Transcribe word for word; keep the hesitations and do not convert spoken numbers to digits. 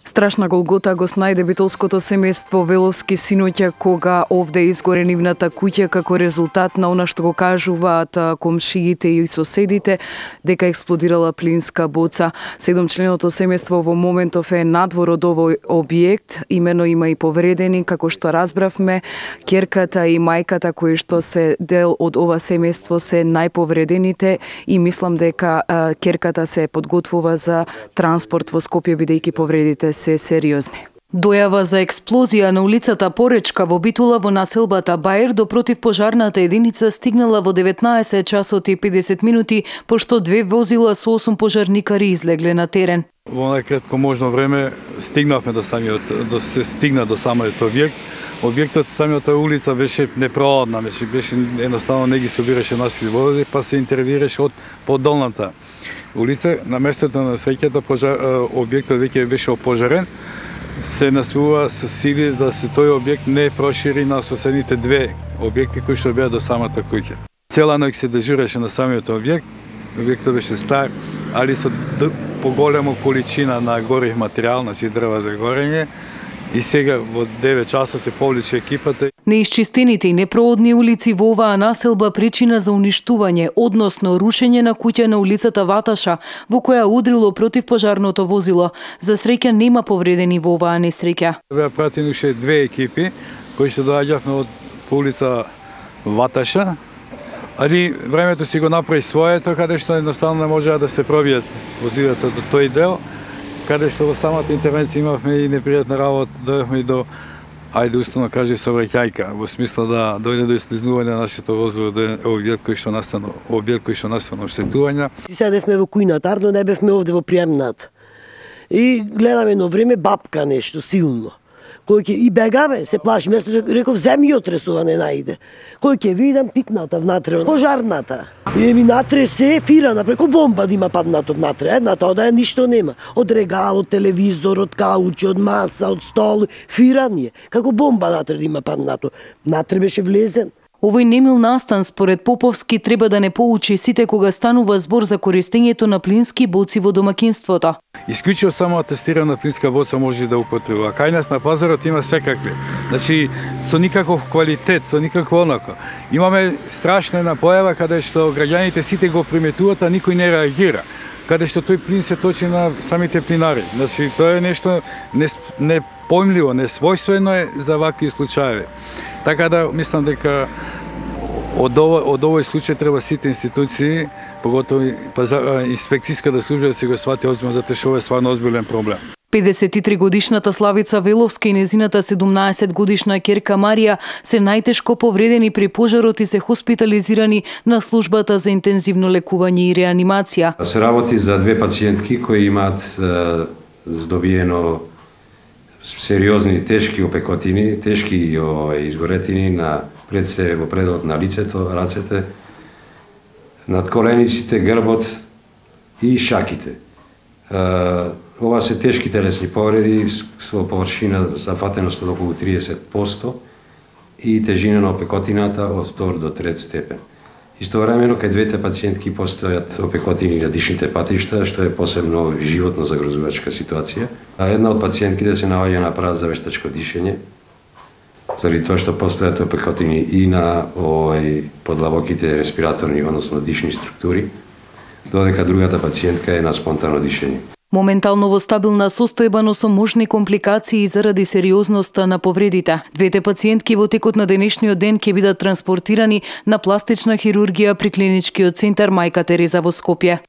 Страшна голгота го снајде битолското семејство Веловски синоќа кога овде изгоре нивната куќа како резултат на она што го кажуваат комшиите и соседите дека експлодирала плинска боца. Седомчленото семејство во моментов е надвор од овој објект, имено има и повредени, како што разбравме, ќерката и мајката кои што се дел од ова семејство се најповредените и мислам дека ќерката се подготвува за транспорт во Скопје бидејќи повредите се сериозни. Дојава за експлозија на улицата Поречка во Битола во населбата Бајер до противпожарната единица стигнала во деветнаесет часот и педесет минути, пошто две возила со осум пожарникари излегле на терен. Во најкратко можно време стигнавме до самиот, до се стигна до самиот објект. Објектот, самиот улица беше непролазна, беше, беше едноставно не ги собираше наси води, па се интервираше од подолната улица. На местото на среќата објектот веќе беше опожарен. Се настојува со сили да се тој објект не прошири на соседните две објекти кои што беа до самата куќа. Цела ноќ се дежуреше на самиот објект. Објектот беше стар, али со поголема количина на горив материјал, значи дрва за горење. И сега во девет часот се повлече екипата. Неисчистените и непроодни улици во оваа населба причина за уништување, односно рушење на куќа на улицата Ваташа, во која удрило противпожарното возило. За среќа нема повредени во оваа несреќа. Беа пратени уште две екипи кои што доаѓавме од по улица Ваташа, али времето си го направи своето, каде што едноставно не можеа да се пробијат возилата до тој дел, каде што во самата интервенција имавме и непријатна работа, дојдовме и до, ајде уставно каже, сообраќајка, во смисла да дојде до излизнување на нашето возило до објект кој што настана, објект кој што настана оштетувања. Седевме во кујната, ардно не бевме овде во приемната. И гледаме едно време бабка нешто силно. Кој ќе и бегаме, се плаши, место реков земји отресува не најде. Кој ќе видам пикната внатре, пожарната. И ми натре се фирана, преко бомба да има паднато внатре, едната ода ништо нема. Од регал, од телевизор, од каучи, од маса, од стол, фиран е. Како бомба натре да има паднато. Натре беше влезен. Овој немил настан според Поповски треба да не поучи сите кога станува збор за користењето на плински боци во домакинството. Исклучиво само атестирана плинска боца може да употребува. Кај нас на пазарот има секакви. Значи со никаков квалитет, со никакво онако. Имаме страшна една појава каде што граѓаните сите го приметуваат, а никој не реагира. Каде што тој плин се точи на самите плинари. Значи тоа е нешто непојмливо, несвојствено е за вакви случаи. Така да мислам дека од овој, од овој случај треба сите институции, поготово инспекцијската служба да се го свати озбилно, затоа што ова е стварно озбилен проблем. педесет и три годишната Славица Веловска и незината седумнаесет годишна ќерка Марија се најтешко повредени при пожарот и се хоспитализирани на службата за интензивно лекување и реанимација. Се работи за две пациентки кои имаат е, здобиено сериозни тешки опекотини, тешки о, изгоретини на пред се во предот на лицето, рацете, над колениците, грбот и шаките. Е, ова се тешки телесни повреди со површина зафатеност од околу триесет проценти и тежина на опекотината од втор до трет степен. Истовремено кај двете пациентки постојат опекотини на дишните патишта, што е посебно животно загрозувачка ситуација. А една од пациентките се наоѓа на апарат за вештачко дишење, заради тоа што постојат опекотини и на овој подлабоките респираторни, односно дишни структури, додека другата пациентка е на спонтано дишење. Моментално во стабилна состојба, но со можни компликации заради сериозноста на повредите. Двете пациентки во текот на денешниот ден ќе бидат транспортирани на пластична хирургија при клиничкиот центар Мајка Тереза во Скопје.